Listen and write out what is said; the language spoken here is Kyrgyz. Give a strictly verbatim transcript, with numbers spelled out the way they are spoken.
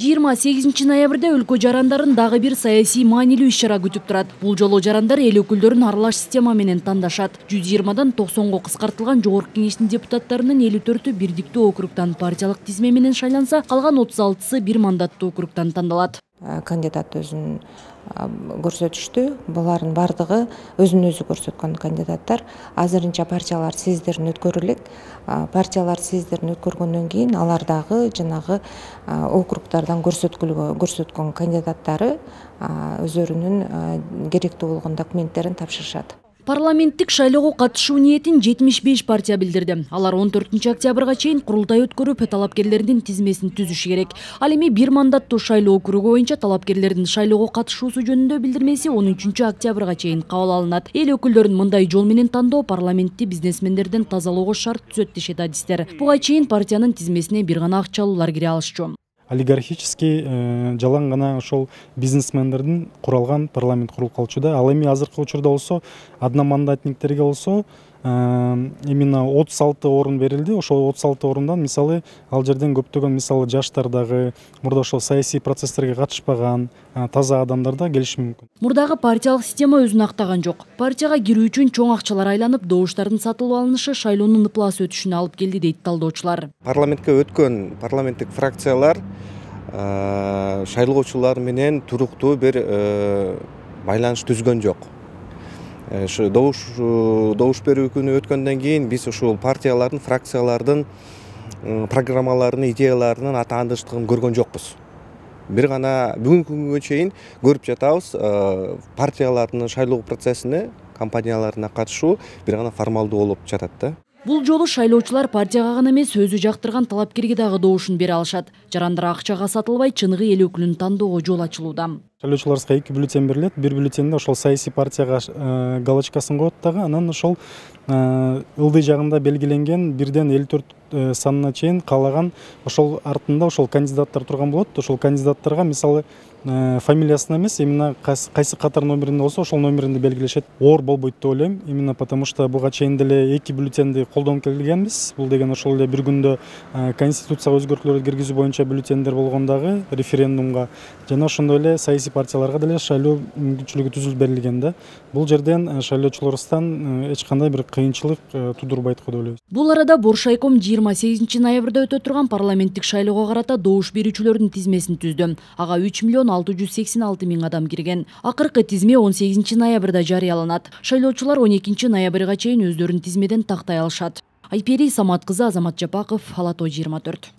жыйырма сегизинчи ноябрда өлкө жарандарын дагы бир саясий маанилүү иш-чара күтүп турат. Бул жолу жарандар эл өкүлдөрүн аралаш система менен тандашат. жүз жыйырмадан токсонго кыскартылган Жогорку Кеңештин депутаттарынын элүү төртү бирдиктүү округтан партиялык тизме менен шайланса, калган отуз алтысы бир мандаттуу округтан тандалат. Кандидат өзүн көрсөтүштү. Булардын бардыгы өзүн өзү көрсөткөн кандидаттар. Азырынча партиялар съезддерин өткөрүп элек. Партиялар съезддерин өткөргөндөн кийин алар дагы жанагы округдардан көрсөткөн кандидаттары өзлөрүнүн керектүү болгон документтерин тапшырышат. Парламенттик шайлоого катышуу ниетин жетимиш беш партия билдирди. Алар он төртүнчү октябрга чейин курултай өткөрүп, талапкерлердин тизмесин түзүшү керек. Ал эми бир мандаттуу шайлоо округу боюнча талапкерлердин шайлоого катышуусу жөнүндө билдирмеси он үчүнчү октябрга чейин кабыл алынат. Эл өкүлдөрүн мындай жол менен тандоо парламентти бизнесмендерден тазалоого шарт түзөт дешет адистер. Буга чейин партиянын тизмесине бир гана акчалуулар кире алышчу. Олигархический жалаң гана ошол бизнесмендердин куралган парламент куруп калчу да. Ал эми азыркы учурда болсо одномандатниктерге болсо именно отуз алты орун берилди. Ошол отуз алты орундан мисалы ал жерден көптөгөн мисалы жаштар дагы, мурда ошол саясий процесстерге катышпаган таза адамдар да келиши мүмкүн. Мурдагы партиялык система өзүн актаган жок. Партияга кирүү үчүн чоң акчалар айланып, добуштардын сатылып алынышы шайлоонун ыплас өтүшүнө алып келди дейт талдоочулар. Парламентке өткөн парламенттик фракциялар шайлоочулар менен туруктуу бир байланыш түзгөн жок. Добуш добуш берүү күнү өткөндөн кийин биз ушул партиялардын, фракциялардын программаларынын, идеяларынын атаандыштыгын көргөн жокпуз. Бир гана бүгүнкү күнгө чейин көрүп жатабыз, партиялардын шайлоо процессине, компанияларына катышуу бир гана формалдуу болуп жатат да. Бул жолу шайлоочулар партияга гана эмес, өзү жактырган талапкерге дагы добушун бере алышат. Жарандар акчага сатылбай, чыныгы эл өкүлүн тандоого жол ачылууда. Шайлоочуларга эки бюллетень берилет. Бир бюллетенде ошол саясий партияга галочкасын коет дагы, анан ошол ылдый жагында белгиленген бирден элүү төрт санына чейин каалаган ошол артында ошол кандидаттар турган болот. Ошол кандидаттарга мисалы фамилиясын эмес, именно кайсы катар номеринде болсо ошол номеринде белгилешет. Оор болбойт деп ойлойм. Именно потому что буга чейин деле эки бюллетенди колдонуп келгенбиз. Бул деген ошол эле бир күндө конституцияга өзгөртүүлөр киргизүү боюнча бюллетендер болгондагы референдумга жана ошондой эле саясий партияларга деле шайлоо мүмкүнчүлүгү түзүлүп берилген да. Бул жерден шайлоочуларыбыздан эч кандай бир кыйынчылык тудурбайт го деп ойлойбуз. Бул арада Боршайком жыйырма сегизинчи ноябрда өтө турган парламенттик шайлоого карата добуш берүүчүлөрдүн тизмесин түздү. Ага үч миллион алты жүз сексен алты миң адам кирген. Акыркы тизме он сегизинчи ноябрда жарыяланат. Шайлоочулар он экинчи ноябрга чейин өздөрүн тизмеден тактай алышат. Айпери Самат кызы, Азамат Жапаков, Ала тоо жыйырма төрт.